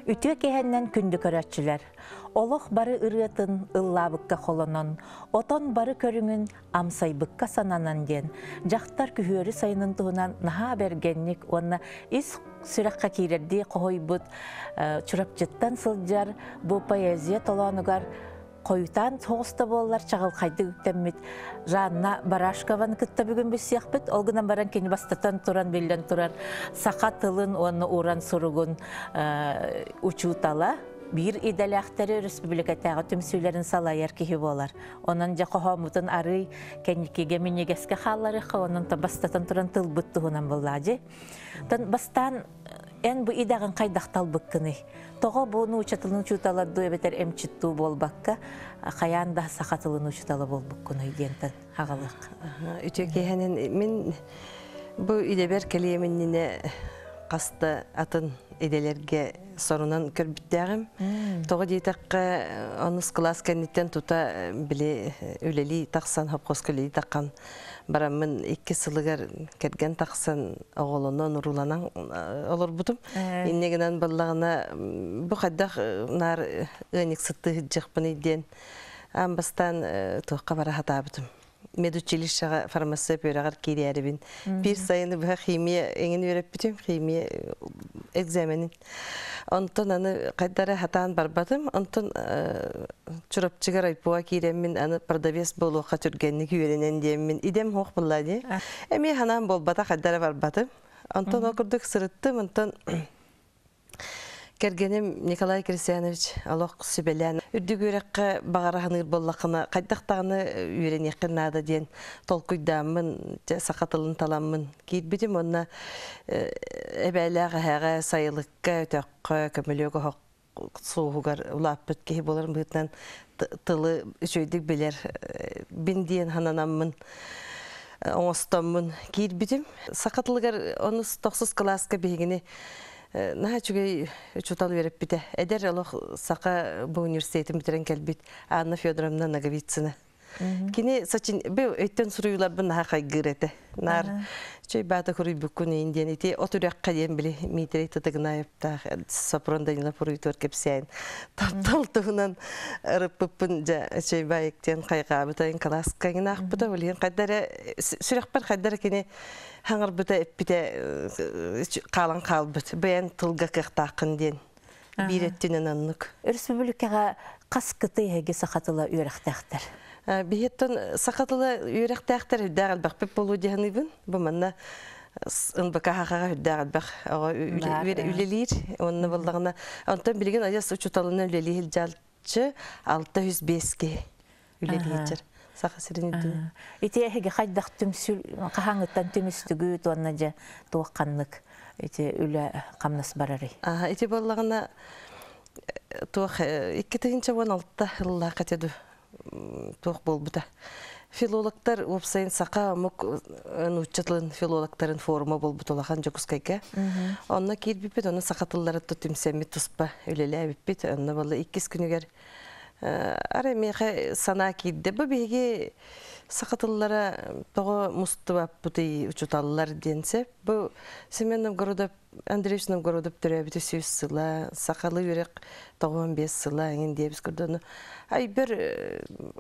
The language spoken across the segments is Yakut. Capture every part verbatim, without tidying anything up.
Үтүө киэһэнэн күндү көрөөччүлэр! Олох бары ырыатын ыллаабыкка холонон, отон бары көрүҥүн амсайбыкка сананан диэн, дьахтар күһүөрү сайынын туһунан наһаа бэргэнник уонна ис сүрэххэ киирэрдии хоһуйбут Чурапчыттан сылдьар бу поэзия толоонугар хойутаан соҕус да буоллар чаҕылхайдык үктэммит Жанна Барашкованы кытта бүгүн билсиэхпит. Ол гынан баран кини бастатан туран биллэн турар саха тылын уонна уран суругун учуутала, биир идэлээхтэри республикатааҕы түмсүүлэрин салайар киһи буолар. Онон дьэ хоһооммутун арый кэнникигэ минньигэскэ хаалларыахха, онон бастатан туран тылбыт туһунан буоллаадьы. Тан бастаан эн бу идэҕин хайдах талбыккыный? Тоҕо бу нуучча тылын учуутала дуу эбэтэр эмчит дуу буолбакка, хайаан да саха тылын учуутала буолбуккунуй диэнтэн хаҕалыах. Үтүө киэһэнэн. Мин бу идэбэр кэлиэминнинэ хаста атын идэлэргэ сорунан көрбүттээҕим. Тоҕо диэтэххэ, онус кылаас кэнниттэн тута били үлэлии тахсан, хопхоска үлэлии таххан бараммын икки сылыгар кэргэн тахсан оҕолонон, урууланан олорбутум. Инне гынан баллаҕына бу хайдах наар ыанньыксыттыы сылдьыахпыный диэн аан бастаан туохха бара сатаабытым. Медучилищеҕа фармацевт үөрэҕэр киирээрибин. Биир сайыны быһа химия эҥин үөрэппитим, химия экзаменин. Онтон аны хайдара хатаан барбатым. Онтон Чурапчыга райпоа киирэммин аны продавец буолуохха түргэнник үөрэнэн диэммин идем хоох булла дии. Эмиэ ханаан буолбата, хайдара барбатым. Онтон ол курдук сырыттым, онтон кэргэним Николай Кристианович олох сүбэлээн үрдүк үөрэххэ баҕара ханыыр буоллаххына хайдах даҕаны үөрэниэххин наада диэн толкуйдааммын саха тылын таламмын киирбитим. Онно эбээлээх эһээҕэ сайылыкка өтөххө көмөлүөк оһох суоһугар улааппыт киһи буоларым быһыытынан тылы үчүгэйдик билэр бин диэн хананаммын оҥостоммун киирбитим. Саха тылыгар онус тохсус кылааска биһигини наһаа үчүгэй учуутал үөрэппитэ. Эдэр олох саха бу университетин бүтэрэн кэлбит Анна Федоровна Ноговицына. Кини сачин бу өйттөн суруйууларбын наһаа хайгыыр этэ. Наар чөй баата куруйбуккун иин диэн ити от үрэххэ диэн били Митрий Тытыгынаевтаах Сопрон Данилов уруйтуор кэпсээн таптал туһунан ырыппыппын дьэ чөй баайык диэн хайгаабыта ин кылааска иҥин билиһин хайдара сүрэхпэр хайдара кини хаҥарбыта эппитэ хаалан хаалбыт бэйэн тылга кыахтааххын диэн биир өттүнэн оннук. Өрөспүүбүлүкэҕэ хас кытай эһиги саха тыла үөрэхтээхтэр? Биһиттэн саха тыла үөрэхтээхтэр үрдээх элбэхпит буолуо диэханыыбын. Бу манна НБК хахаҕа үрдээх элбэх үлэлиир. Онно буллаҕына онтон билигин адьас учууталынан үлэлиир дьалчы алта жүз биэс үлэлиир. Саха сирин үрдүнэн. Ити эһиги хайдах түмсүл хаһааҥыттан түмүстүгүт уонна дьэ туох ханнык ити үлэ хамнас барарый? Ити буоллаҕына туох икки тыһыынча уон алта ыллаах этэ туох буолбута. Филологтар уопсайын саха омук нуучча тылын филологтарын форума буолбут улахан Дьокуускайга. Онно киирбиппит, онно саха тыллары түмсэммит туспа үлэлээбиппит. Онно буолла иккис күнүгэр ара миэхэ санаа киирдэ. Бу биһиги саха тыллара тоҕо мустубаппытый учуталлар диэн сеп. Бу Семен Новгородов, Андреевич Новгородов төрөөбүтэ сүүс сыла, сахалы үөрэх тоҕуон биэс сыла эҥин диэбис көрдөнү. Ай бер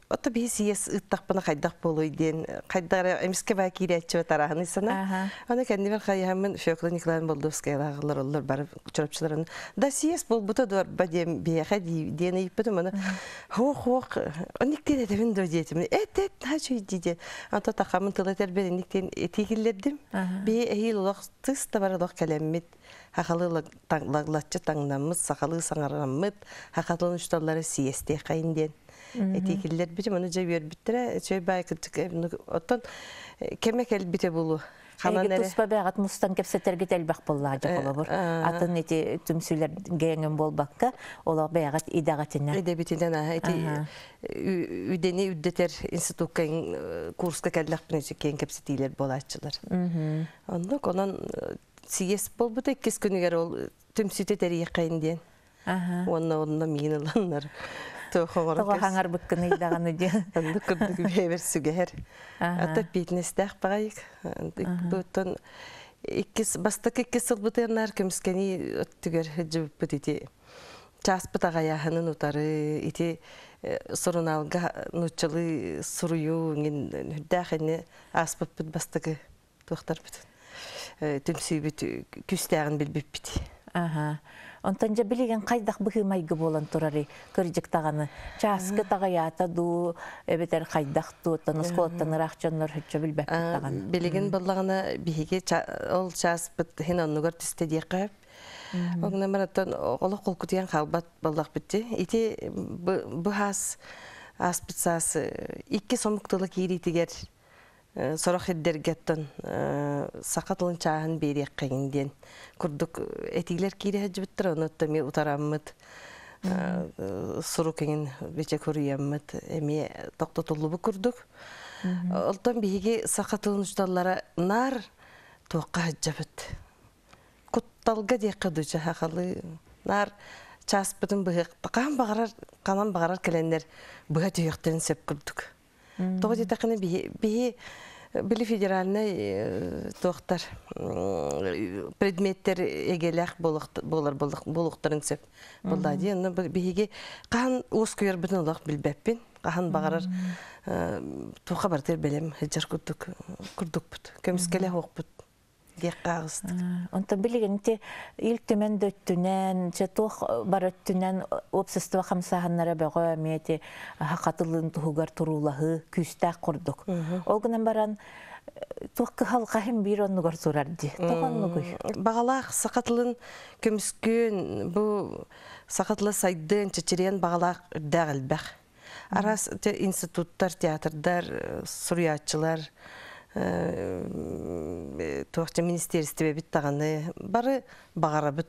ото биһи сиэс ыттахпына хайдах буолуй диэн хайдара эмиске баа киирээччи тараһыны сана. Аны кэннибер хайыһаммын Фёкла Николаевна Болдовская оллор бары чурапчыларын. Да сиэс болбута дуорба диэн биэхэ диэн ыйыппытым аны хоох-хоох ониктен этебин до диэтим. Эт эт хачуй диде. Ато тахамын тыла тербен иниктен этигиллердим. Би эһил олох тыс да бар олох кэлэммит. Хахалы лаглатчы таңнаммыт, сахалы саңараммыт, хахалын учталлары сиесте хайын диэн. Этигиллер битим аны жа бербиттере, чөй бай кытык оттон кеме келбите булу. Эги туспа бәгат мустан кепсетерге телбэх боллаа жаколобур. Атын ити түмсүлер геңен болбакка, ола бәгат идагатина. Идебитинен аха ити үдени үддетер институтка курска келлэхпин кен кепсетилер болаачылар. Оннук онон сиес болбута иккис күнүгер ол түмсүтэ терийэккайын диэн. Онно онно миин ыланнар. Тоҕо хаҥар быккын ыйдаганы диэн. Оннук курдук бэйбер сүгэһэр. Ата питнестэх багайык. Буттан Иккис бастакы иккис сылбытыаннар көмүскэни өттүгэр жыбыппыт ити чааспыт аҕайааһынын утары ити суруналга нууччалыы суруйуу иҥин үрдээх инни ааспыппыт бастакы туохтарбыт түмсүүбүт күүстээҕин билбиппит. Аха. Онтон дьэ билигин хайдах быһыы-майгы буолан турарый кырдьык даҕаны чааскы таҕайаата дуу эбэтэр хайдах дуу оттон оскуолаттан ыраах дьоннор һөччө билбэппит даҕаны. Билигин буоллаҕына биһиги ол чааспыт иһин оннугар түстэ диэххэ сөп. Ол бараттан олох холкутуйан хаалбат буоллахпыт дии. Ити быһаас ааспыт саас икки сомук тыла киириитигэр сорох ирдэргэттэн саха тылын чааһын биэриэххиҥ диэн курдук этиилэр киирэ сылдьыбыттар, ону эмиэ утараммыт сурук иҥин бичэ куруйаммыт эмиэ тохтотуллубут курдук. Олтон биһиги саха тылын учууталлара наар туохха сылдьабыт. Кутталга диэххэ дуу сахалыы наар чааспытын быһыах хаһан баҕарар ханан баҕарар кэлэннэр быһа түһүөхтэрин сөп курдук. Тоҕо диэтэххинэ биһи биһи били федеральнай туохтар предметтер эгэлээх буолар буолуохтарын сөп буолла дии. Онно биһиги хаһан уоскуйарбытын олох билбэппин. Хаһан баҕарар туохха барытыгар бэлэм сылдьар курдук курдукпут. Көмүскэлэ суохпут диэххэ аҕыстык. Онтон билигин ити Ил Түмэн да өттүнэн, чэ туох бар өттүнэн общество хамсааһыннара бөҕө эмиэ ити хатылыын туһугар туруулаһыы күүстээх курдук. Ол гынан баран туох кыһалҕаһын биир оннугар турар дии. Тоҕо оннугуй? Баҕалаах саха тылын көмүскүөн, бу саха тыла сайдыан, чэчириэн баҕалаах үрдээх элбэх. Араас институттар, театрдар, суруйааччылар, туохча министерствебит даҕаны бары баҕарабыт.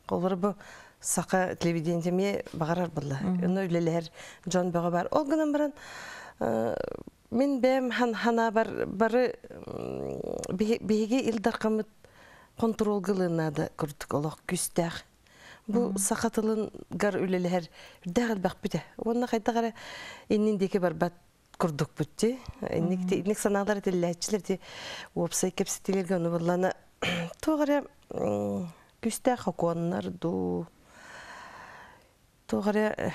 Олор бу саха телевидениетэ эмиэ баҕарар буолла. Онно үлэлэһэр дьон бөҕө бар. Ол гынан баран мин бэйэм ханаабар бары биһиги Ил Дархаммыт хонтуруолга ылынаада курдук олох күүстээх. Бу саха тылыгар үлэлэһэр үрдээх элбэхпит. Уонна хайдах эрэ иннин диэки барбат курдукпут дии. Инник инник санаалар этиллээччилэр ти уопсай кэпсэтиилэргэ ону буллана туох эрэ күүстээх хокуоннар дуу туох эрэ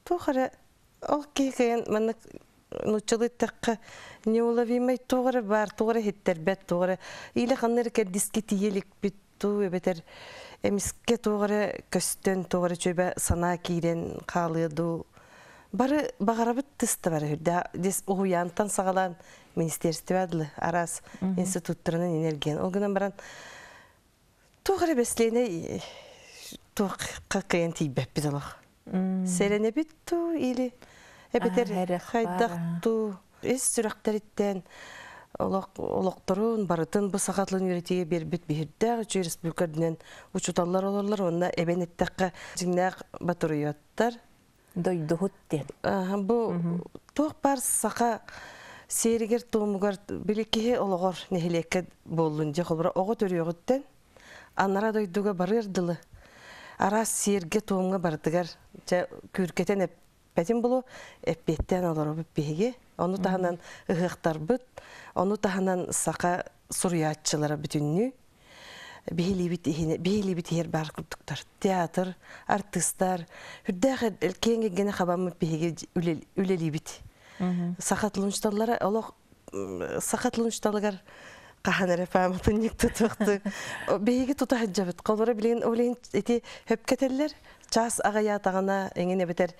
туох эрэ ол киһи кыайан маннык нууччалыы эттэххэ неуловимый туох эрэ баар туох эрэ иһиттэрбэт туох эрэ илэ ханна эрэ кэрдиискэ тиийэ иликпит дуу эбэтэр эмискэ туох эрэ көстөн туох эрэ чүөбэ санаа киирэн хаалыа дуу бары баҕарабыт тыста бары үрдэ дес уһуйаантан саҕалаан министерство дылы араас институттарынан энергиян ол гынан баран туох эрэ бэслиэнэй туох кыайан тиийбэппит олох сэрэнэбит дуу или эбэтэр хайдах дуу ис сүрэхтэриттэн олох олохторун барытын бу саха тылын үөрэтиигэ биэрбит биһирдээх үчүгэй республика үрдүнэн учууталлар олорлор уонна эбэн эттэххэ дьиҥнээх батуруйуоттар дойдуһут диэн. Бу туох бар саха сиэригэр туомугар били киһи олоҕор нэһилиэккэ буоллун дьэ холобура оҕо төрүөҕүттэн анара дойдуга барыар дылы араас сиэргэ туомҥа барытыгар дьэ күүркэтэн эппэтин булу эппиэттээн олоробут биһиги ону таһынан ыһыахтарбыт ону таһынан саха суруйааччылара бүтүннүү биһилиибит иһине биһилиибит иһэр баар курдуктар театр артыыстар үрдээх киэҥ эйгэни хабаммыт биһиги үлэлиибит саха тылын учууталлара олох саха тылын учууталыгар хаһан эрэ пааматынньык тутуохту биһиги тута сылдьабыт холобура билигин ол иһин ити хөпкө этэллэр чаас аҕыйаатаҕына эҥин эбэтэр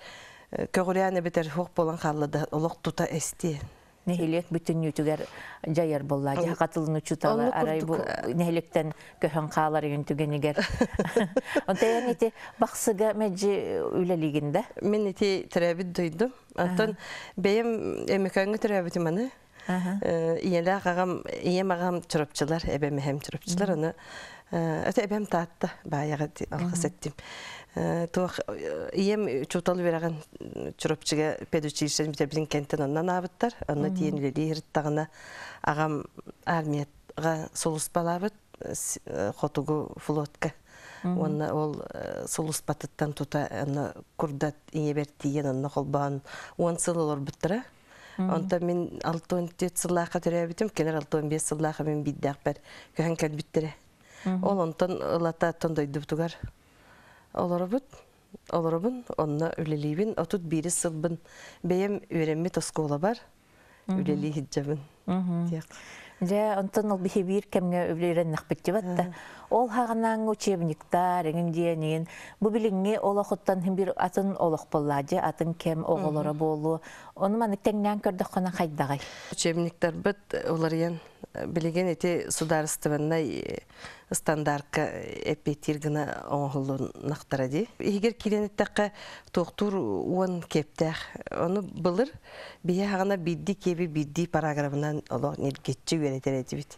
көҕүрээн эбэтэр суох буолан хаалла да олох тута эстиэ нэһилиэк бүтүннүүтүгэр дьайар буолла дьэ хатылын учуутала арай бу нэһилиэктэн көһөн хаалар үйүн түгэнигэр онтон ити бахсыга мэлдьи үлэлиигин да мин ити төрөөбүт дойдум онтон бэйэм Өймөкөөҥҥө төрөөбүтүм аны ийэлээх аҕам ийэм аҕам чурапчылар эбэм эһэм чурапчылар аны өтө эбэм Таатта баайаҕа алҕас эттим туох ийэм учуутал үөрэҕин Чурапчыга педучилищены бүтэрбитин кэнтэн онно анаабыттар онно тиийэн үлэлии сырыттаҕына аҕам армияҕа сулууспалаабыт хотугу флотка уонна ол сулууспатыттан тута онно курдат ийэбэр тиийэн онно холбоон уон сыл олорбуттара. Онтон мин алтан төрт сыллаахха төрөөбүтүм, кинилэр алтан биэс сыллаахха мин биирдээхпэр көһөн кэлбиттэрэ. Ол онтон ылата оттон дойдубутугар олоробут, олоробун, онно үлэлиибин. Отут биирис сылбын бэйэм үөрэммит оскуолабар үлэлии сылдьабын. Дьэ, онтон ол биһи биир кэмҥэ үлэлэрэннэхпит дибатта. Ол хаҕанааҥҥы учебниктар, эҥин диэн, бу билиҥҥи олохуттан бир атын олох буолла, дьэ, атын кэм оҕолоро буолуо. Ону маннык тэҥнээн көрдөххүнэ хайдаҕай? Учебниктарбыт уларыйан, билигин ити судаарыстыбаннай стандартка эппиэттиир гына оҥоһуллуннахтара дии. Иһигэр киирэн эттэххэ, туохтуур уон киэптээх. Ону былыр биһи хаҕана биирдии киэби биирдии параграфынан олох ньиргиччи үөрэтэр этибит.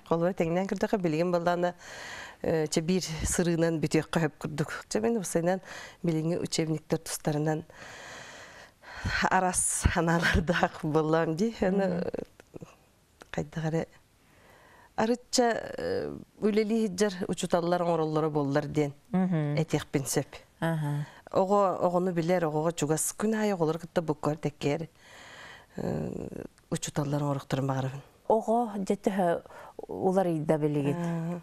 Холобура тэҥнээн көрдөххө, билигин баллаана чэ биир сырыынан бүтүөххэ хөп курдук. Чэ мин уопсайынан билиҥҥи учебниктар тустарынан арас санаалардаах буоллаам дии. Аны хайдах эрэ арычча үлэлии сылдьар учууталлар оҥороллоро буоллар диэн этиэхпин сөп. Оҕо оҕону билэр, оҕоҕо чугас күн аайы оҕолору кытта буккуһар тэккээр учууталлар оҥоруохтарын баҕарабын. Оҕо дьэ төһө уларыйда билигин?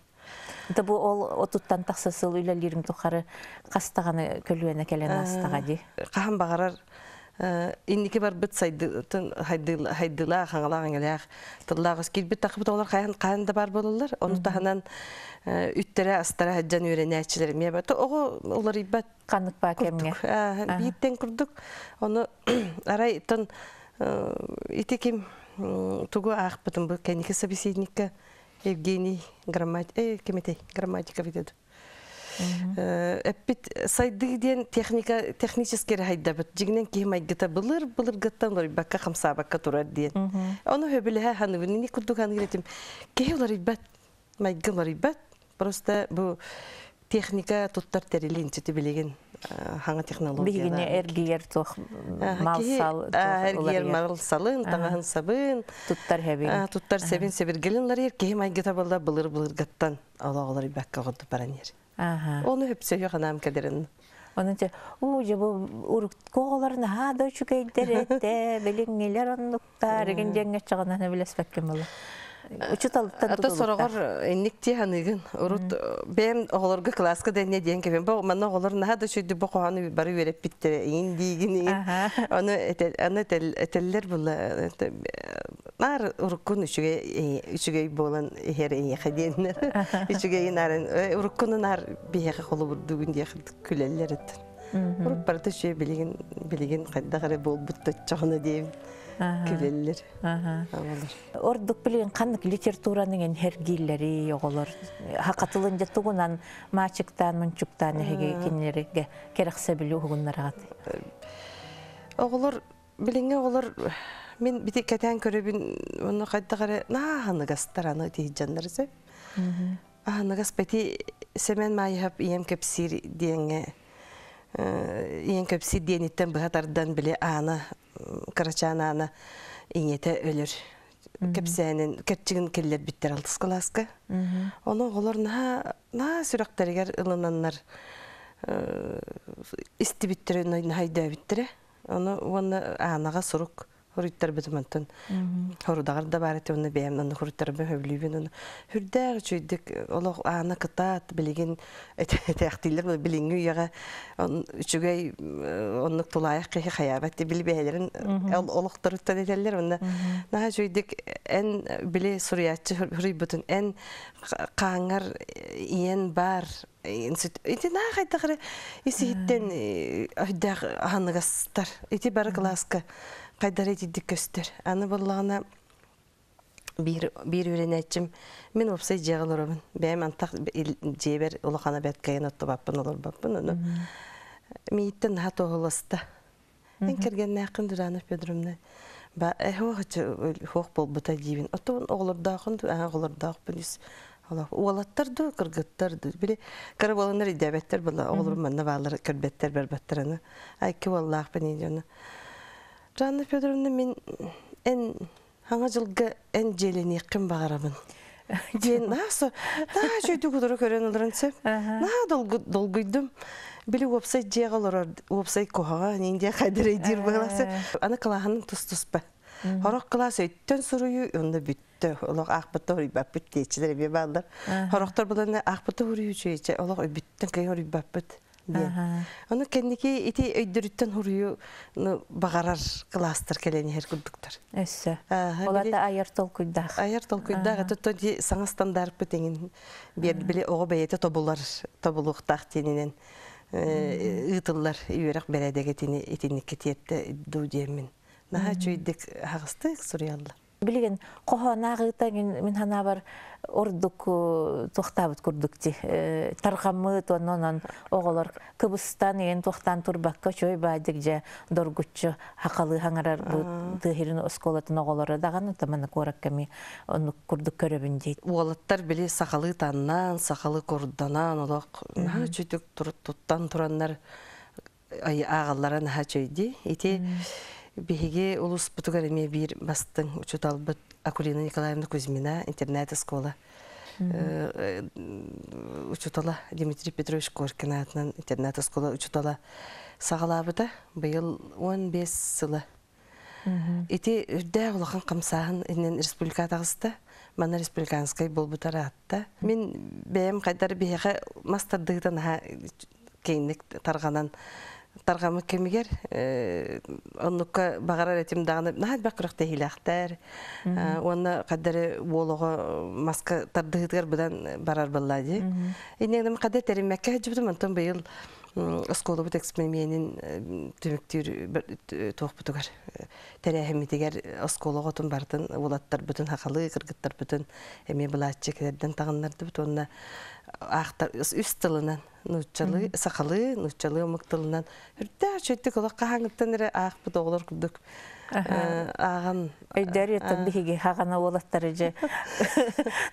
Да бу ол отуттан тахса сыл үлэлиирим тухары хастаҕаны көлүөнэ кэлэн аастаҕа дии. Хаһан баҕарар инники барбыт сайдытын хайдылаах, хаҥалаах, эҥэлээх тыллаах өс киирбит тахыбыт оҕолор хайан хаһан да бар буолаллар. Ону таһынан үттэрэ астара сылдьан үөрэнээччилэр эмиэ бар. Оҕо уларыйбат Ханнык баа кэмҥэ? Бииртэн курдук. Ону арай тон ити ким тугу аахпытым бу кэнники собеседникка Евгений грамматик э ким этэй грамматика битед. Эппит сайдыы диэн техника технически хайдабыт. Дьиҥинэн киһи майгыта былыр былыргыттан уларыйбакка хамсаабакка турар диэн. Ону сөбүлэһэ саныыбын. Ини курдук саныыр этим. Киһи уларыйбат, майгы уларыйбат. Просто бу техника туттар тэрилин сити билигин хаҥа технологиялар. Биһигини эргийэр туох мал-сал эргийэр мал салын, таҥаһын сабын, туттар хэбин. Туттар сэбин сэбиргэлин уларыйар. Киһи майгыта буолла былыр былыргыттан олох уларыйбакка оҕорду баран иһэр. Ону хөпсөйө ханаам кэлэрин. Онон те уу же бу урукку оҕолор наһаа да үчүгэйдэр этэ, билиҥҥилэр оннуктар, игин диэҥҥэ чаҕынан билэспэккин буолла. Учууталыттан Ата сороҕор инник тии ханыгын. Урут бэйэм оҕолорго кылааска да инньэ диэн кэбин. Бу манна оҕолор наһаа да үчүгэйдик бу хоһоону бары үөрэппиттэрэ иҥин диигин иҥин. Аны аны этэллэр була наар уруккун үчүгэй үчүгэй буолан иһэр эйиэхэ диэннэр. Үчүгэйин арын уруккуну наар биһиэхэ холобурдуугун диэх күлэллэр эттэн. Урут барыта үчүгэй билигин билигин хайдах эрэ буолбут точчоҕуна диэбин күлэллэр. Оҕолор. Ордук билигин ханнык литератураның энергийлери оҕолор хакатылын дьэ тугунан маачыктаан мунчуктаан эһиги кинилерге кэрэхсэбили уһугуннараҕат. Оҕолор билиҥҥи оҕолор мин бити кэтээн көрөбүн онно хайдах эрэ нааһаныгастар аны тиһиджаннары сөп. Аһыныгас бэти Сэмэн Маайыһап ийэм кэпсиир диэҥҥэ ийэм кэпсиир диэниттэн быһа тардан били аана кырачаан аана ийэтэ өлөр кэпсээнин кэрчигин киллэрбиттэр алтыс кылааска. Ону оҕолор наһаа наһаа сүрэхтэригэр ылынаннар истибиттэрэ наһаа өйдөөбүттэрэ. Ону уонна аанаҕа сурук хоруйтарбытым онтон хорудаҕар да баар этэ уонна бэйэм онно хоруйтарбын сөбүлүүбүн ону сүрдээх үчүгэйдик олох аана кытаат билигин этээхтииллэр билиҥҥи үйэҕэ үчүгэй оннук тулаайах киһи хайаабат били бэйэлэрин олохторуттан этэллэр уонна наһаа үчүгэйдик эн били суруйааччы суруйбутун эн хааҥҥар ийэн баар ити наһаа хайдах эрэ ис-иһиттэн өйдөөх аһыныгастар ити бары кылааска хайдар итидик көстөр. Аны буоллаҕына биир биир үөрэнээччим мин уопсай дьиэҕэ олоробун. Бэйэм антах дьиэбэр улахана бэрт кыайан оттубаппын олорбоппун. Ону мииттэн наһаа туоһуласта. Эн кэргэннээххин Дурана Федоровна ба эһуох хуох буолбута диибин. Оттон оҕолордоохун аа оҕолордоохпун үс уолаттар ду кыргыттар ду били кыра буоланнар идээбэттэр була оҕолорум манна бааллар көрбөттөр барбаттар аны айки уоллаахпын иди Жанна Федоровна мин эн хаҥа дьылга эн дьиэлэниэххин баҕарабын. Диэн наһаа со наһаа үчүгэйдик утары көрөн олорон сөп. Наһаа долгуйдум. Били уопсай дьиэҕэ олорор уопсай куһаҕан индия хайдыр диир быһаласы. Аны кылааһын тус-туспа. Хорох кылаас өйттөн суруйуу онно бүттэ. Олох аахпытта хоруйбаппыт диэччилэр эмиэ бааллар. Хорохтор буланна аахпытта хоруйуу үчүгэйчэ олох өйбүттэн кый хоруйбаппыт диэн. Ону кэнники ити өйдөрүттэн хоруйу баҕарар кылаастар кэлэн иһэр курдуктар. Өссө. Олата айар толкуйдаах. Айар толкуйдаах. Это ди саҥа стандартпыт эҥин биэр били оҕо бэйэтэ тобулар тобулуохтаах диэнинэн ыытыллар үөрэх бэрээдэгэтини итинникке тиэртэ дуу диэммин. Наһаа үчүгэйдик хаҕыстык суруйаллар. Билигин хоһоонааҕыта мин ханаабар ордук туохтаабыт курдук ти тарҕаммыт онон оҕолор кыбыстан иэн туохтаан турбакка чой баадык же доргуччу хакалы хаҥарар бу тыһирин осколатын оҕолоро даҕаны тамана куоракками оннук курдук көрөбүн дейт. Уолаттар били сахалы таннан, сахалы курданан олох наһаа үчүгдүк туттан тураннар ааҕаллара наһаа үчүгэй. Ити биһиги улуспутугар эмиэ биир бастыҥ учууталбыт Акулина Николаевна Кузьмина интернет-оскуола учуутала Дмитрий Петрович Коркин аатынан интернет-оскуола учуутала саҕалаабыта быйыл он бес сыла. Ити үрдээх улахан хамсааһын иннин республика таҕыста, манна республиканскай буолбутар аатта. Мин бэйэм хайдар биһиэхэ мас тардыытан аһа киэҥник тарҕанан тарҕаммыт кэмигэр оннукка баҕарар этим даҕаны наһаа элбэх күрэхтэһиилээхтэр уонна хаддары уолоҕо маска тардыһыытыгар быдан барар буолла дии. Иннигинэн хадда тэриммэккэ сылдьыбытым, онтон быйыл оскуолабыт эксперименин түмүктүүр туохпутугар тэрээһиммитигэр оскуола оҕотун барытын уолаттарбытын хахалы кыргыттарбытын эмиэ былааччы кэлэрдэн таҕыннардыбыт уонна аахтар үс тылынан нууччалыы сахалыы нууччалыы омук тылынан үрдээх үчүгэйдик олох хаһааҥҥыттан эрэ аахпыт оҕолор курдук ааҕан Өйдөр еттен биһиги хагана уолаттары же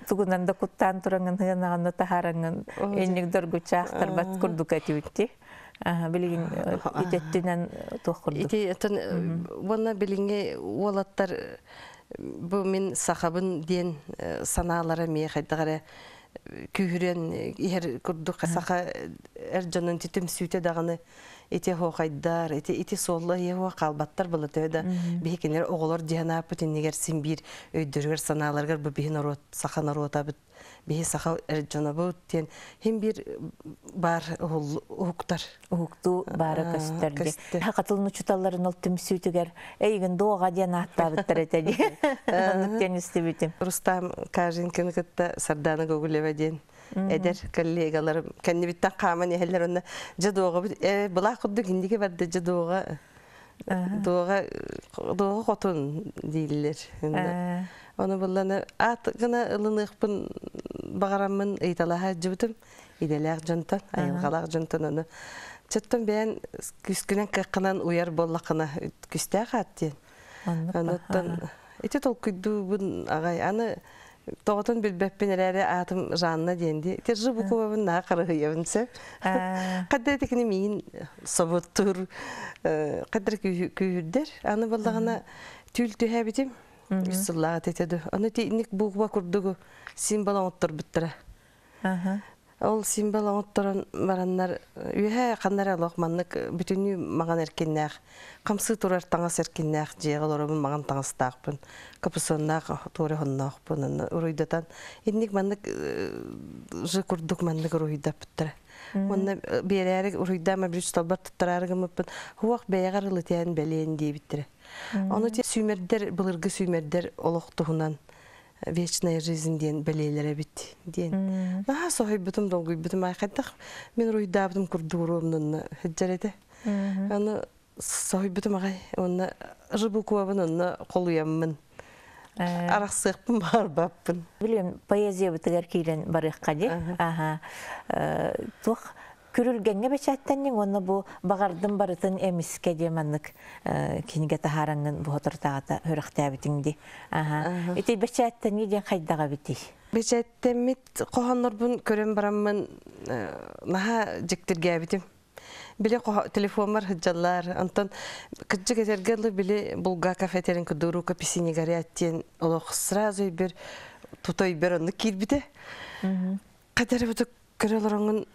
тугунан да куттаан тураңын хыанаҕанна таһаараңын энник доргучаахтарбат курдук этибитти. Билигин итеттинен туох курдук. Ити этен уонна билиҥҥи уолаттар бу мин сахабын диэн санаалара миэ хайдах эрэ күүһүрэн иһэр курдук саха эр дьонун түмсүүтэ даҕаны ити хоохайдар ити ити суолла иһэ хаалбаттар была төһө да биһикинер оҕолор диэн ааппыт иннигэр син биир өйдөрүгэр санааларыгар бу биһи норуот саха норуотабыт биһи саха эр дьонобут диэн хим биир бар уһуктар уһуктуу баара көстөр ди. Хакатылын учуталларын ол түмсүүтүгэр эйигин дуоҕа диэн ааттаабыттар этэ ди. Оннук диэн истибитим. Рустам Кажинкины кытта Сардана Гоголева диэн эдэр коллегаларым кэннибиттэн хааман иһэллэр онно дьэ дуоҕабыт э былаах курдук индиги барда дьэ дуоҕа дуоҕа дуоҕа хотун дииллэр. Ону булланы аат гына ылыныахпын баҕараммын ыйыталаһа дьыбытым идэлээх дьонтон айылҕалаах дьонтон ону чөттөн бэйэн күскүнэн кыаххынан уйар буоллаххына күстээх аат диэн. Онуттан ити толкуйдуубун аҕай аны тоҕотун билбэппин эрээри аатым Жанна диэн ди. Ити Ж буквабын наһаа харыһыйабын сөп. Хаддар итикини миин собуттуур хаддар күүһүрдэр. Аны буоллаҕына түүл түһээбитим. Үс сыллааҕыт этэ ду. Аны итинник буква курдугу символ оҥотторбуттара. Ол символ оҥотторон бараннар үөһэ ханнара олох маннык бүтүннүү маҕан эркиннээх хамсыы турар таҥас эркиннээх дьиэҕэ олоробун маҕан таҥастаахпын капусоннаах туора хонноохпун онно уруйдатан инник маннык ж курдук маннык уруйдаппыттара. Онно биэрээри уруйдаама бир талбар туттараары гыммыппын хуох бэйэҕэр ылытыан бэлиэн диэбиттэрэ. Ону сүүмэрдэр былыргы сүүмэрдэр олох туһунан вечная жизнь диэн бэлиэлэр эбит диэн. Наһаа соһуйбутум долгуйбутум айхайдах мин уруйдаабытым курдугуруомнунна сылдьар этэ. Аны соһуйбутум аҕай уонна рыбукуабын онно холуйаммын арахсыахпын баарбаппын. Билим поэзиябытыгар киирэн барыахха ди. Аха. Туох күрүлгэҥҥэ бэчээттэнниҥ уонна бу баҕардым барытын эмискэ диэ маннык кинигэ таһаараңҥын буһотортаҕата хөрөхтээбитиҥ ди. Аха. Ити бэчээттэнии диэн хайдаҕа битий? Бэчээттэммит хоһооннорбун көрөн бараммын наһаа дьиктиргээбитим. Били телефонмар сылдьаллар. Онтон кырдьык этэргэ дылы били Булгаков этэрин курдук рукописи не горят диэн олох сразу бир Тутой бер онну киирбите. Кадары бутук көрөлөрөңүн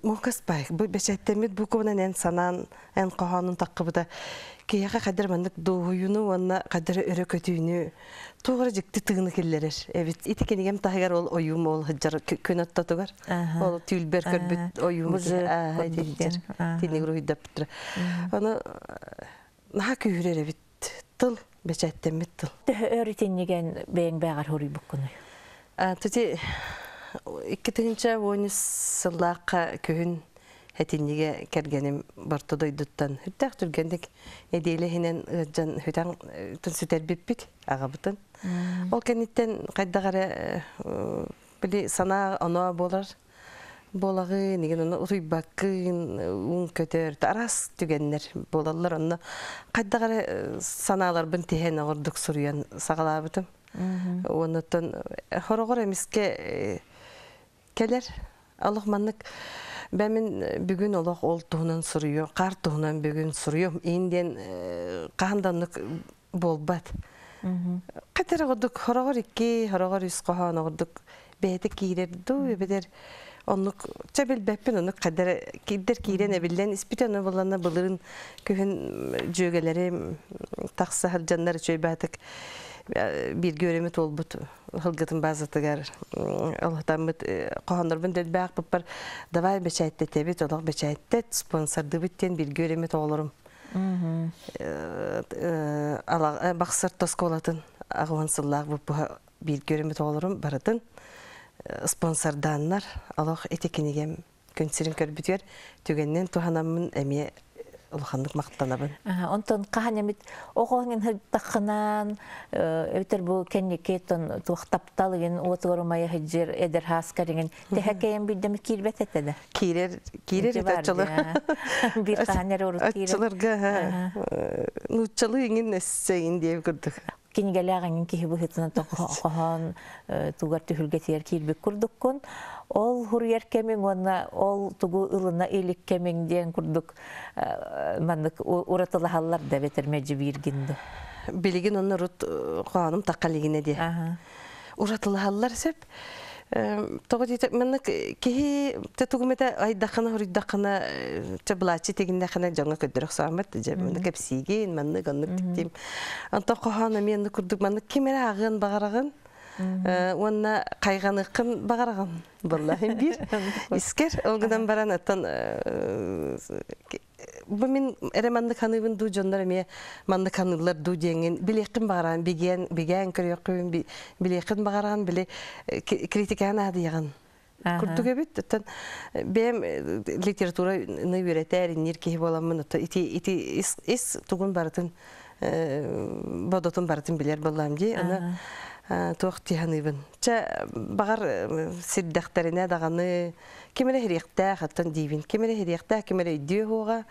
мокас бай. Бу бечеттемит бу кубанан эн санаан эн кохонун таккыбыта. Киһиэхэ кадыр маннык дуһуйуну уонна кадыр өрө көтүүнү тугара жикти тыгыны киллерер. Эбит ити кинигем таһыгар ол оюм ол хыджар күн оттотугар. Ол түүлбер көрбүт оюм тиниг руйдаптыр. Аны наха күүрер эбит тыл бечеттемит тыл. Төһө өрүтинниген бэйэң бэҕэр хоруйбуккуну. Тути икки тыһынча уонус сыллаахха күһүн хэтинниге кэргэним барто дойдуттан хүттэх түргендик эдиэлэһинэн ыджан хүтэн тун сүтэрбиппит аҕабытын. Ол кэнниттэн хайдагара били санаа оноа болар болагы неген оны утуйбаккын уун көтөр арас түгеннер болалар онно хайдагара санааларбын тиһэн оҕордук суруйан саҕалаабытым. Оннотон хорогор эмиске келер алох маннык бәмин бүгүн олох ол туһунан суруйу, кар туһунан бүгүн суруйу. Инден каһанданнык болбат. Катер годук хорогор икки, хорогор үс кохон годук бэйте киирер ду эбедер оннук чабил бэппин оннук кадер кидер киирен эбиллен испите оны боллана былырын күһүн жөгелери такса хылжаннар чөйбатык бир көрөмү толбут хылгытын базатыгар алхатаммыт кохоннорбун делбаак буппар давай бечайттетебит олох бечайттет спонсордыбыттен бир көрөмү тоолорум баксыр тосколатын агуан сыллаах буппуха бир көрөмү тоолорум барытын спонсордааннар алох этекинигем күнсирин көрбүтүгер түгеннен туханаммын эмие улаханнык мактанабын. Онтон каханямит оҕоҥин хырдаххынан эбитер бу кенникетон туох тапталыгын уотугар хыджыр эдер хаскарыгын тэхэкэйэн биддеми киирбет этеде. Киирер киирер этачылар. Бир каханер орут киирер. Ачыларга нуччалы иңин эссейин диэб курдук. Кинигэлээҕиҥин киһи быһытынан тохон тугар түһүлгэтигэр киирбит курдуккун ол хуруйар кэмиҥ уонна ол тугу ылына илик кэмиҥ диэн курдук маннык уратылаһаллар да бетер меджи бииргинду. Билигин онно рут хоонум таккалигине ди. Уратылаһаллар сеп тоҕо диэтэ маннык киһи те тугумета айдахана хуруйдахана чаблачи тегиннахана дьоҥо көддөрөх саамат же маннык кэпсиигин маннык оннук тиктим онто хоһоона мен курдук маннык кимере агын багарагын уонна кайганыккын багарагын баллахин бир искер олгудан баран аттан бу мин эре маннык ханыыбын дуу дьоннор эмиэ маннык ханыылар дуу диэҥин билиэххин багараан бигиэн бигээн көрүөххүн билиэххин багараан били критикаан аадыйаҕын курдук эбит оттон бэйэм литература ны үөрэтээр иннир киһи буоламмын отто ити ити ис ис тугун барытын бодотун барытын билер боллам дии аны туох тиһаныыбын чэ багар сирдэхтэринэ даҕаны кимэрэ хириэхтээх оттон диибин кимэрэ хириэхтээх кимэрэ өйдүө хуоҕа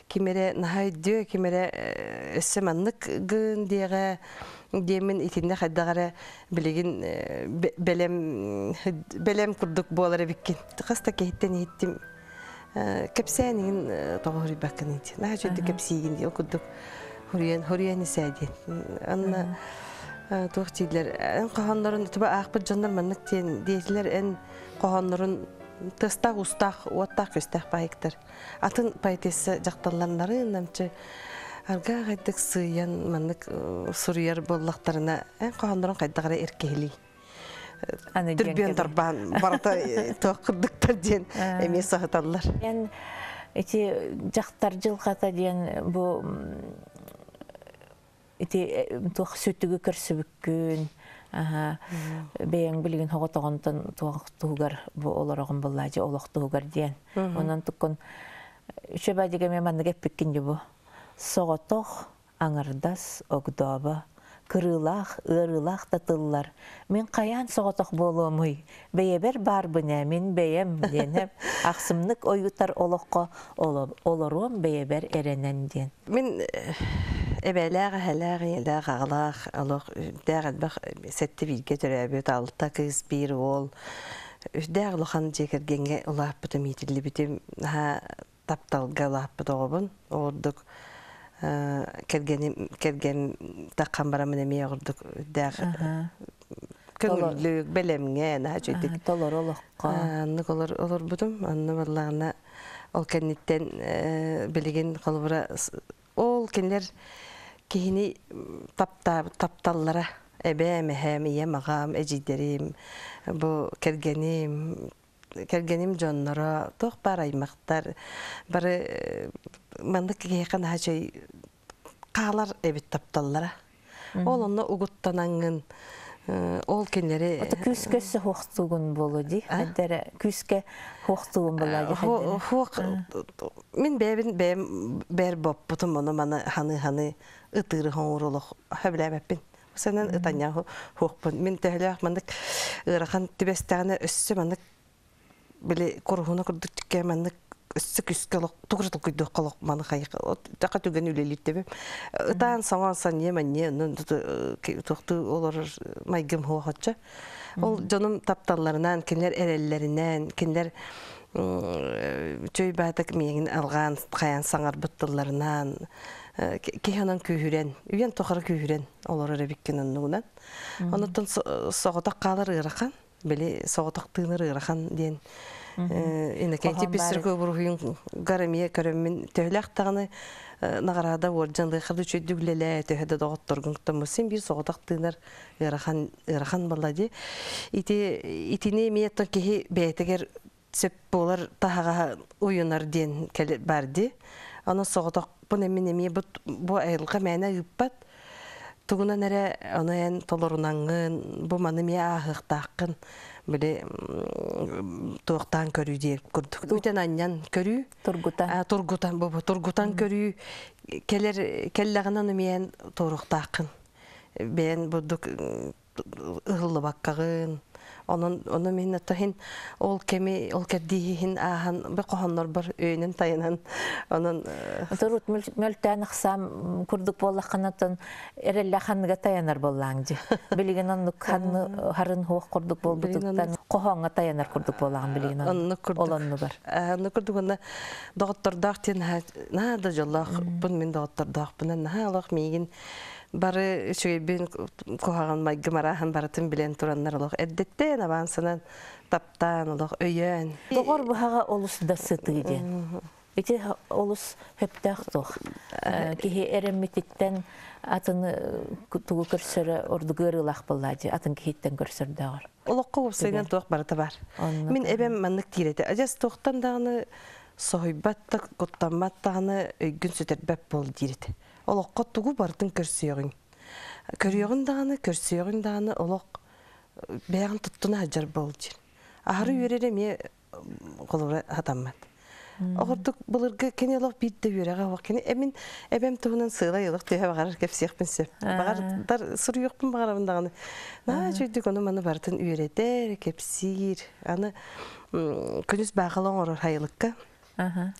кимэрэ наһаа өйдүө кимэрэ өссө маннык гын диэҕэ диэмин итиннэ хайдаҕара билигин бэлэм бэлэм курдук буолар эбиккин хаста киһиттен иһиттим кэпсээнигин тоҕо хуруйбаккын ити наһаа чөйдү кэпсиигин диэн курдук хуруйан хуруйан исээдиэн анна туох дииллэр эн хоһооннорун туба аахпыт дьоннор маннык диэн диэтилэр эн хоһооннорун тыстаах устаах уоттаах көстөөх баайыктар атын поэтесса дьахталларнарын намчы аргаа хайдык сыйан маннык суруйар боллахтарына эн хоһооннорун хайдагара эркиһилий түрбүөн тарбаан барата туох кырдыктар диэн эмиэ саһыталлар. Эн ити дьахтар дьылҕата диэн бу ити туох сүтүгү көрсүбүккүн бэйэҥ билигин хоҕотоҕонтон туох туһугар бу олороҕун буллаажы олох туһугар диэн онон туккун үчөбадига ме маннык эппиккин бу соҕотох аҥардас огдооба кырыылаах ыарыылаах татыллар мин хайаан соҕотох буолуомуй бэйэбэр баарбын мин бэйэм диэн ахсымнык ойутар олоххо олоруом бэйэбэр эрэнэн диэн. Мин эбэлээх эһэлээх ийэлээх аҕалаах олох дээх элбэх сэтти бииргэ төрөөбүт алта кыыс биир уол үсдээх улахан дьиэ кэргэҥҥэ улааппытым иитиллибитим наһаа тапталга улааппыт оҕобун оҕурдук кэргэним кэргэн таххан барамын эмиэ оҕурдук дээх Көңүллүк, бэлэмҥэ, наһаа үчүгдүк. Толору олоххо. Оннук олор олорбутум. Онно буоллаҕына ол кэнниттэн билигин холобура ол кинилэр киһини таптаабыт тапталлара эбээм, эһээм, ийэм, аҕам, эдьиийдэрим, бу кэргэним, кэргэним дьонноро, туох баар аймахтар бары маннык киһиэхэ наһаа үчүгэй хаалар эбит тапталлара. Ол онно угуттанаҥҥын ол кинилэри Ото күүскэ өссө хуохтуугун буолуо дии. Хайдара күүскэ хуохтуугун буолла дии хайдара. Хуох мин бэйэбин бэйэм бээр боппутум ону маны ханы-ханы ытыыры хоҥур олох сөбүлээбэппин. Сэнэн ытанньа хуохпун. Мин төһөлөөх маннык ыарахан түбэстэҕинэ өссө маннык били куруһуна курдук түккэ маннык өссө күскэ олох тугура толкуйдуохха олох маны хайыха тақа түгэн үлэлииртэбим. Ытаан саҥан санье манье туохтуу олорор майгым хуохоччо. Ол дьонум тапталларынан, кинилэр эрэллэринэн, кинилэр чөй баатак миэгин алҕаан хайаан саҥарбыт тылларынан киһи онон күүһүрэн, үйэн тухары күүһүрэн олорор эбиккин оннугунан. Онуттан соҕотох хаалар ыарахан, били соҕотох тыынар ыарахан диэн Иннокентий Пестряков уруһуйун гарамия көрөммүн төһөлөөх даҕаны наҕараада уордьан лыахар да үчүгэйдик үлэлээ төһө да доҕотторгун кытта син биир соҕотох тыынар ыарахан ыарахан буолла дии. Ити итини эмиэ оттон киһи бэйэтигэр сөп буолар таһаҕаһа уйунар диэн бар дии. Онон соҕотохпун эмин эмиэ бу айылҕа мээнэ ыыппат. Тугунан эрэ ону эн толорунаҥҥын бу маны эмиэ ааһыахтааххын били туохтаан көрүү диэн курдук. Үтэн анньан көрүү. Тургутан. Тургутан бу тургутан көрүү кэлэр кэллэҕинэ ону эмиэ эн туоруохтааххын. Бэйэн бурдук ыһыллыбаккаҕын. Онон ону мин аттаһин ол кэми ол кэрдииһин ааһан бу хоһоннорбор өйүнэн тайанан онон Турут мөлтөөн ахсаам курдук буоллаххынатын эрэллэ ханныга таянар буоллааҥ дьи. Билигин оннук ханны харын хуох курдук буолбутуттан хоһооҥҥо таянар курдук буоллаҕын билигин оннук курдук. Ол оннугар. Оннук курдук онно доҕоттордоох диэн наһаа да дьоллоохпун мин доҕоттордоохпун наһаа олох миигин бары үчүгэйбин куһаҕан майгым арааһын барытын билэн тураннар олох эрдэттэн авансынан таптаан олох өйөөн. Доҕор быһаҕа олус да сытыы диэн. Ити олус хөптөөх туох. Киһи эрэммититтэн атын тугу көрсөрө ордук ыарыылаах буоллаа дии, атын киһиттэн көрсөрдөҕөр. Олоххо уопсайынан туох барыта бар. Мин эбэм маннык диир этэ. Адьас туохтан даҕаны соһуйбат да, куттаммат даҕаны өйгүн сүтэрбэт буол диир этэ. Олоххо тугу барытын көрсүөҕүҥ. Көрүөҕүн даҕаны, көрсүөҕүн даҕаны олох бэйэҕин туттуна сылдьар буол диир. Аһары үөрэр эмиэ холобура хатаммат. Оҕордук былыргы кини олох биир да үөрэҕэ суох. Кини эмин эбэм туһунан сыалай олох төһө баҕарар кэпсиэхпин сөп. Баҕардар суруйуохпун баҕарабын даҕаны. Наһаа үчүгдүк ону маны барытын үөрэтэр, кэпсиир. Аны күнүс баахала оҥорор хайылыкка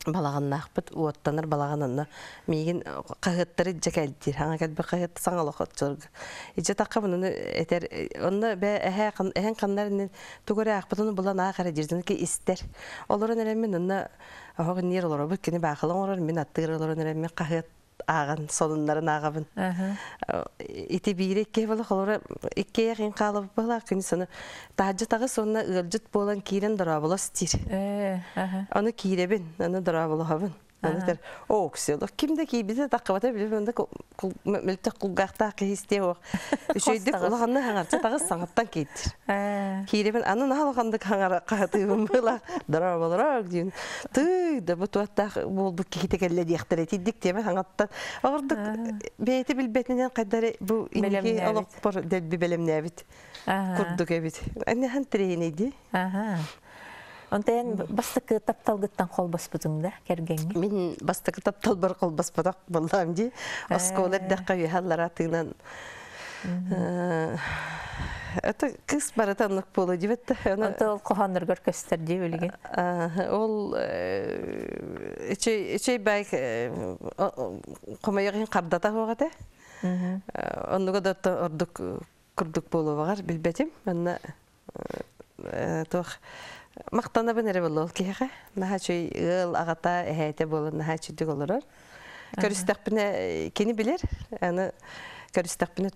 балаҕаннаахпыт уоттанар балаҕан онно миигин хаһыаттары илдьэ кэлдиир хаҥа кэлбит хаһыат саҥа олох оччолорго илдьэ таххабын ону этэр онно бээ эһээ эһэҥ ханнар иннин тугу эрэ аахпытын булан аах эрэ диир ки истэр олорон эрэммин онно оһох инниэр олоробут кини баахала оҥорор мин аттыгар олорон эрэммин хаһыат ааҕан сонуннарын ааҕабын ити биири икки буола холоро икки ин хаалабыт быһылаах күнүс ону таһырдьа таҕыс уонна ыалдьыт буолан киирэн дорооболос диир ону киирэбин ону дорооболоһобун ону этэр оо оксиолог ким да киирбитэ таххыбата билбэт онно мөлтөх кулгаахтаах киһи истиэ суох үчүгэйдик улаханнык хаҥарча таҕыс саҥаттан киирдир киирэбин аны наһаа улаханнык хаҥара хаһытыыбын быһыылаах дорооболорок диин тыый да бу туохтаах буолбут киһитэ кэллэ диэхтэрэ итирдик тиэмэ хаҥаттан оҕордук бэйэтэ билбэтинэн хайдары бу инники олохпор дэлби бэлэмнээбит курдук эбит аннахан тирэйинэй Онтон бастакы тапталгыттан холбоспутуҥ да кэргэҥҥин? Мин бастакы тапталбар холбоспотох буоллаам дии. Оскуола эрдэххэ үөһэ тыынан это кыс барыта оннук буолуо диэбэт да. Онто ол хоһоонноргор көстөр дии билигин. Ол үчүй бай хомойоҕин хардата суох этэ. Оннуга да ордук курдук буолуо билбэтим. Манна туох махтанабын эрэ буолла ол киһиэхэ. Наһаа үчүй ыал аҕата эһээтэ буолан наһаа үчүйдүк олорор. Көрүстэхпинэ кини билэр. Аны Көрүстэхпинэ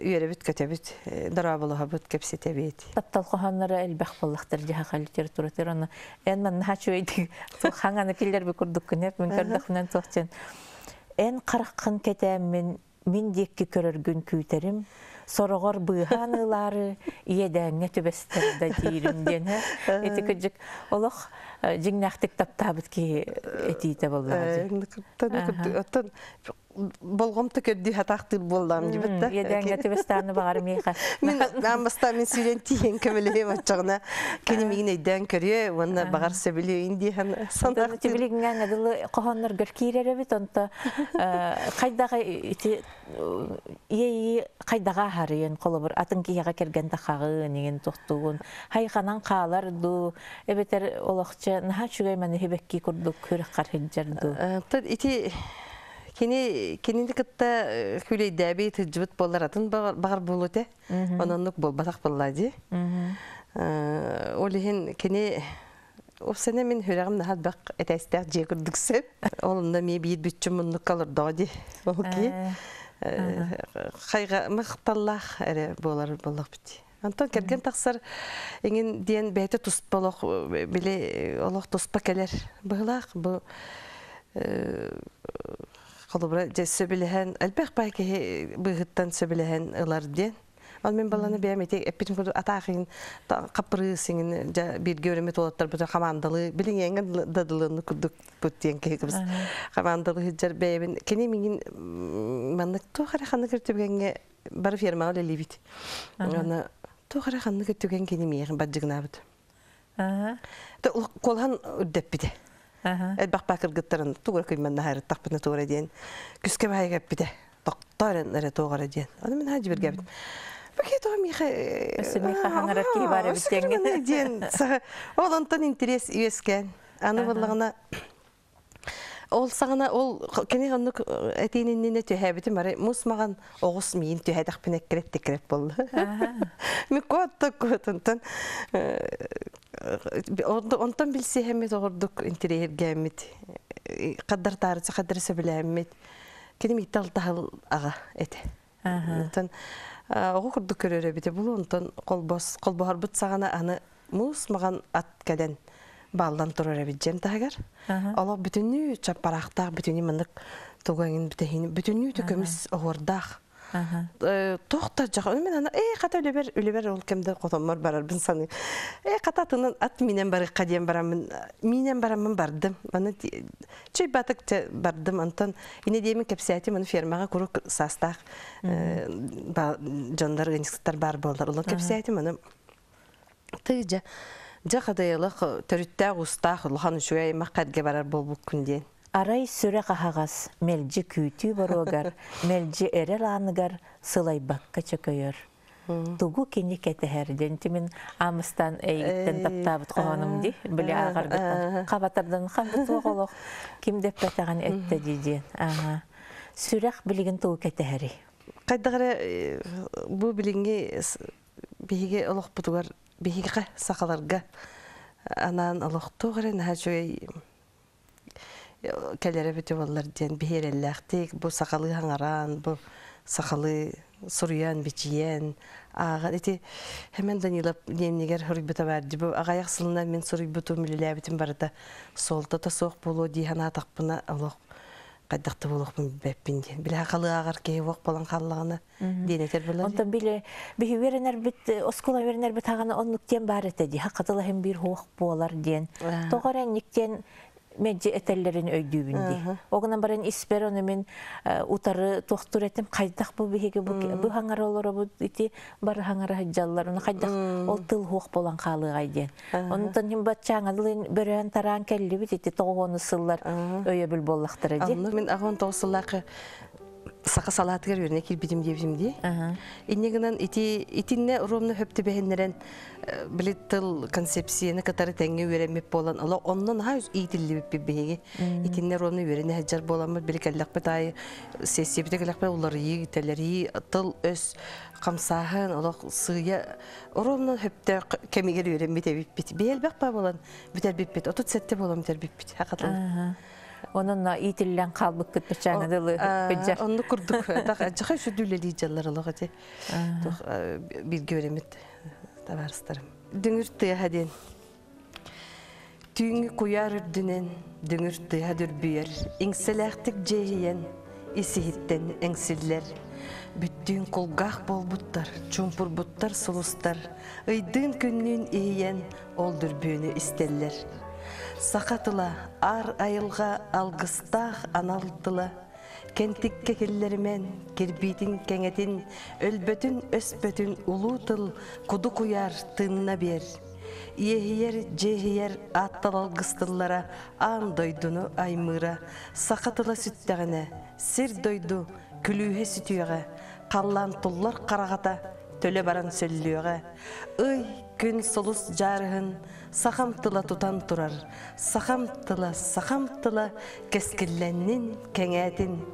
үөрэбит көтөбүт, дорооболоһобут, кэпсэтэбит. Таптал хоһоонноро элбэх буоллахтар дьэ саха литературатыгар, онно эн манна үчүгэйдик хаҥаны киллэрби курдуккун эп мин көрдөхпүнэн туох эн хараххын кэтээммин мин диэкки көрөргүн күүтэрим, сороҕор быыһаан ылаары иэдээҥҥэ түбэстэр да диирим диэн ити кыдьык олох дьиҥнээхтик таптаабыт киһи этиитэ буоллаҕа. Оттон болҕомто көрдүү хатаахтыыр буоллаам дибит да. Иэдээҥҥэ түбэстэаны баҕар миэхэ. Мин аан бастаан мин сүүрэн тиийэн көмөлөһүөм оччоҕуна кини миигин өйдөөн көрүө уонна баҕар сөбүлүөйүн диэһэн санаахтыыр. Тибилигиҥҥэ дылы хоһоонноргор киирэр эбит, онто хайдаҕа ити иэйии хайдаҕа аһарыйын, холобур атын киһиэхэ кэргэн тахаҕын иҥин тохтугун хайханан хаалар дуу, эбэтэр олохча наһаа үчүгэй маны хибэкки курдук күрэххэр сылдьар дуу? Ити кини кинини кытта күлэйдээби тыджыбыт боллар атын бағар буолуте. Ононнук болбатах болла ди. Ол иһин кини Опсана мин хүрәгим нахат бак этәстәк же курдук сөп. Олында ми биир бүтчүм муннук калырдоо ди. Ол ки хайга макталлах эре болар боллах бит. Антон керген тахсар эңин диэн бэйте туспа олох биле олох туспа келер. Быһылаах бу холобура же сөбүлэһэн элбэх бай киһи быһыттан сөбүлэһэн ылар диэн. Ол мен баланы бэйэм ити эппитим курдук атаахын каппырыысиңин жа бирге өрөмөт олоттар бу командалы билиңеңе дадылыны курдук бут диэн киһи кыбыс командалы хыджар бэйэбин кини миңин маннык туох эрэ ханнык түгэҥҥэ бары фермаҕа үлэлиибит. Аны туох эрэ ханнык түгэн кини миэхин баддьыгнаабыт. Колхан үрдэппите. Элбэх бакыргыттарын тугура кыйман наһарыттахпына тугура диэн күскэ баайга эппите. Тохтор эрэ тугара диэн. Аны мин хаҗы биргәбит. Баки то миха Өссө миха хаңарар киһи бар эбит диэҥҥэ. Диэн ол онтон интерес үөскэн. Аны буллагына ол саҕана ол кини оннук этиининнине түһээбитим бары мус маган оҕус миин түһээтэхпин эккирет теккирет болду. Ми куотта куотунтан онтон билсиһэммит оҕордук интерьергэммит каддар таарыча каддар сөбүлээммит кини мииттал таһыл аҕа эте. Онтон оҕо курдук көрөр эбите булу онтон колбос колбоһорбут саҕана аны мус маган ат кэлэн баллан турар эбит дьэм таһыгар. Олох бүтүннүү чаппараахтаах, бүтүннүү маннык тугаңын бүтэһин, бүтүннүү төкөмүс оһуордаах. Тохта жаха мен ана э ката үлебер үлебер ол кемде котоммор барарбын саны. Э ката атынан ат минен барыкка диэн барамын, минен барамын бардым. Аны чөй батык бардым антон ине диэмин кепсээтим аны фермага курук састаах дьоннор ыанньыксыттар бар буоллар. Улан кепсээтим аны тыйжа жа хадайылык төрүттээх устаах улахан үчүгэй махкадге барар болбуккун диэн. Арай сүрэх аһаҕас мэлдьи күүтүү боруогар, мэлдьи эрэл ааныгар сылайбакка чөкөйөр. Тугу кини кэтэһэр диэн тимин аамыстан эйигиттэн таптаабыт хоһоонум ди били ааҕаргыттан хабатардан ханнык туох олох ким дэппэтэҕин эттэ дии диэн. Аха. Сүрэх билигин тугу кэтэһэрий? Хайдах эрэ бу билиҥҥи биһиги олохпутугар биһиги сахаларга анаан олохтуох эрэ наһаа үчүгэй кэлэрэ бүтү боллар диэн биһиэрэллээхтик бу сахалыы хаҥараан бу сахалыы суруйан бичийэн ааҕан ити Хэмэн Данилов диэннигэр хоруйбута бар ди бу аҕайах сылынан мин суруйбутум үлэлээбитим барыта суолтата суох буолуо дии санаатахпына олох хайдахта буолуохпун билбэппин диэн билэ хахалыы ааҕар киһи уох буолан хааллаҕына диэн этэр буолар. Онтон биле биһи үөрэнэрбит оскуола үөрэнэрбит хаҕана оннук диэн баар этэ дии хакатылаһын биир хуох буолар диэн. Тоҕо эрэ инник меджи этэллэрин өйдүүбүн дии. Огынан баран испер ону мин утары туохтур этим хайдах бу биһиги бу бу хаҥара олоробут ити бары хаҥара сылдьаллар ону хайдах ол тыл хуох буолан хаалыаҕай диэн. Онтон хим баччааҥалын бөрөөн тараан кэллибит ити тоҕуону сыллар өйөбүл буоллахтара дии. Мин аҕын тоҕус сыллаахы саха салаатыгар үөрэнэ киирбитим диэбитим дии. Инньэ гынан ити итиннэ ровно хөптүбэһиннэрэн били тыл концепцияны кытары тэҥҥэ үөрэммит буолан олох онно наһаа иитиллибиппит биһиги. Итиннэ ровно үөрэнэ сылдьар буоламмыт били кэллэхпит аайы сессиябитэ кэллэхпит уларыйыы тэлэрии тыл өс хамсааһын олох сыыйа ровно хөптөөх кэмигэр үөрэммит эбиппит. Биһи элбэх баа буолан бүтэрбиппит. Отут сэттэ буолан бүтэрбиппит. Хакатыл. Онон иитиллэн хаалбыккыт баччааҥҥа дылы кыдьар. Оннук курдук. Жаха сүдүлэли жаллар олох эти. Туох бирге өремит табаарыстарым. Дүҥүр тыаһа диэн. Түүҥҥү куйаар үрдүнэн дүҥүр тыаһа дүрбүйэр, иҥсэлээхтик дьиэһийэн, ис-иһиттэн эҥсиллэр. Бүттүүн кулгаах буолбуттар, чуумпурбуттар сулустар, ыйдыын күннүүн иһийэн ол дүрбүөнү истэллэр. Саха тыла аар айылҕа алгыстаах анал тыла, кэнтиккэ киллэримэн, кирбиитин кэҥэтин, өлбөтүн өспөтүн улуу тыл куду куйаар тыынна биэр. Иэһийэр, дьиэһийэр ааттал алгыс тыллара аан дойдуну аймыыра, саха тыла сүттэҕинэ, сир дойду күлүүһэ сүтүөҕэ, халлаан туллар хараҕата төлө баран сөллүөҕэ. Ый, күн сулус дьаарыһын сахам тыла тутан турар, сахам тыла, сахам тыла кэскиллэннин, кэҥээтин.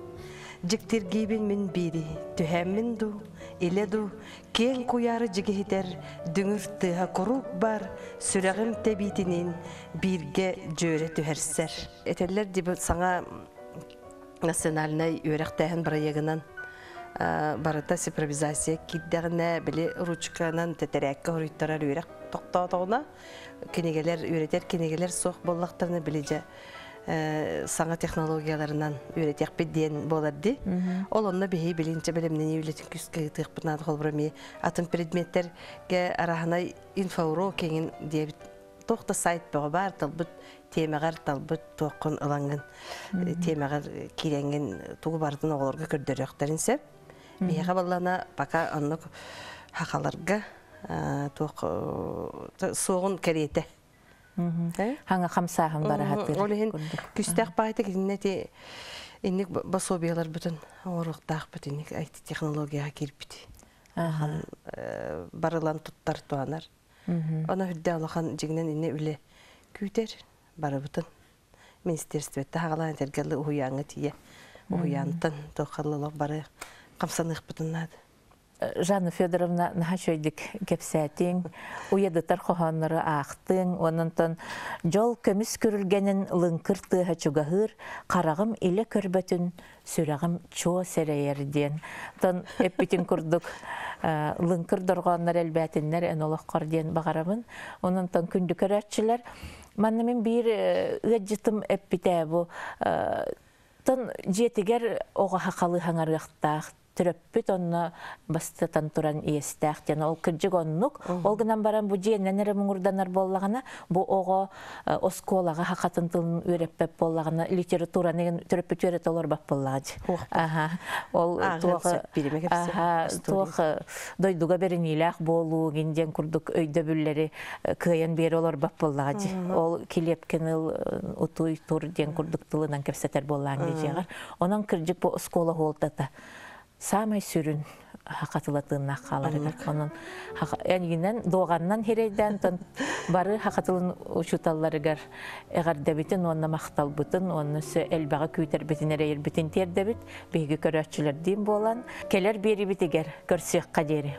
Дьиктиргиибин мин биири, түһээммин дуу, илэ дуу, киэҥ куйаары дьигиһитэр дүҥүр тыаһа куруук баар, сүрэҕим тэбиитиниин бииргэ дьүөрэ түһэрсэр. Этэллэр дии саҥа национальнай үөрэхтээһин бырайыагынан барыта цифровизация киирдэҕинэ, били ручканан тэтэрээккэ хоруйтарар үөрэх тохтоотоҕуна, кинигэлэр, үөрэтэр кинигэлэр суох буоллахтарына, били дьэ саҥа технологияларынан үөрэтиэхпит диэн буолар дии. Ол онно биһи билинчэ бэлэмнэнии үлэтин күүскэ ыытыахпыт наада. Холобура эмиэ атын предметтергэ араһынай инфоурок кэҥин диэбит туох да сайт бөҕө баар, талбыт тиэмэҕэр талбыт туоххун ылаҥҥын, тиэмэҕэр киирэҥҥин тугу барытын оҕолорго көрдөрүөхтэрин сөп. Биһиэхэ баллана пока оннук хахаларга туох суоҕун кэриэтэ. Хаҥа хамсааһын бараһатыр. Ол иһин күстээх баайта кининэ ти инник пособиялар бүтүн оҥоруохтаахпыт, инник ай ти технологияҕа киирбит. Хан барылан туттар туанар. Она хүрдэ улахан дьигинэн инне үлэ күүтэр барыбытын. Министерствотта хагалаан тергелли уһуяңа тие. Уһуянтан тохаллалах бары хамсаныахпытын наада. Жанна Федоровна, наһаа үчүгэйдик кэпсээтиҥ, уйадытар хоһооннору аахтыҥ, ононтон дьол көмүс күрүлгэнин лыҥкыр тыаһа чугаһыыр, хараҕым илэ көрбөтүн, сүрэҕим чуо сэрэйэр диэн. Тон эппитин курдук лыҥкыр дорҕооннор элбээтиннэр эн олоххор диэн баҕарабын. Ононтон күндү көрөөччүлэр, манна мин биир ыадьытым эппитэ бу тон дьиэтигэр оҕо хахалы хаҥарыахтаах, төрөппүт онно бастатан туран иэстээх диэн. Ол кырдьык оннук. Ол гынан баран бу дьиэннэн эрэ муҥурданар буоллаҕына, бу оҕо оскуолаҕа хахатын тылын үөрэппэт буоллаҕына, литератураны төрөппүт үөрэтэ олорбат буоллаҕа. Аха. Ол туох аха туох дойдуга бэриниилээх буолуу диэн курдук өйдөбүллэри кыайан биэрэ олорбат буоллаҕа. Ол килиэпкин утуй тур диэн курдук тылынан кэпсэтэр буоллаҕа дьиэҕэр. Онон кырдьык бу оскуола хуолтата самай сүрүн хакатылатыыннаах хааларыгар. Онон энигинен дуоҕаннан хирейден тон бары хакатылын учуталларыгар эҕэрдэбитин уонна махталбытын уонна сө элбэҕи күүтэрбитин эрейирбитин тиэрдэбит биһиги көрөөччүлэрдиин буолан келер биэрибитигэр көрсүөххэ диэри.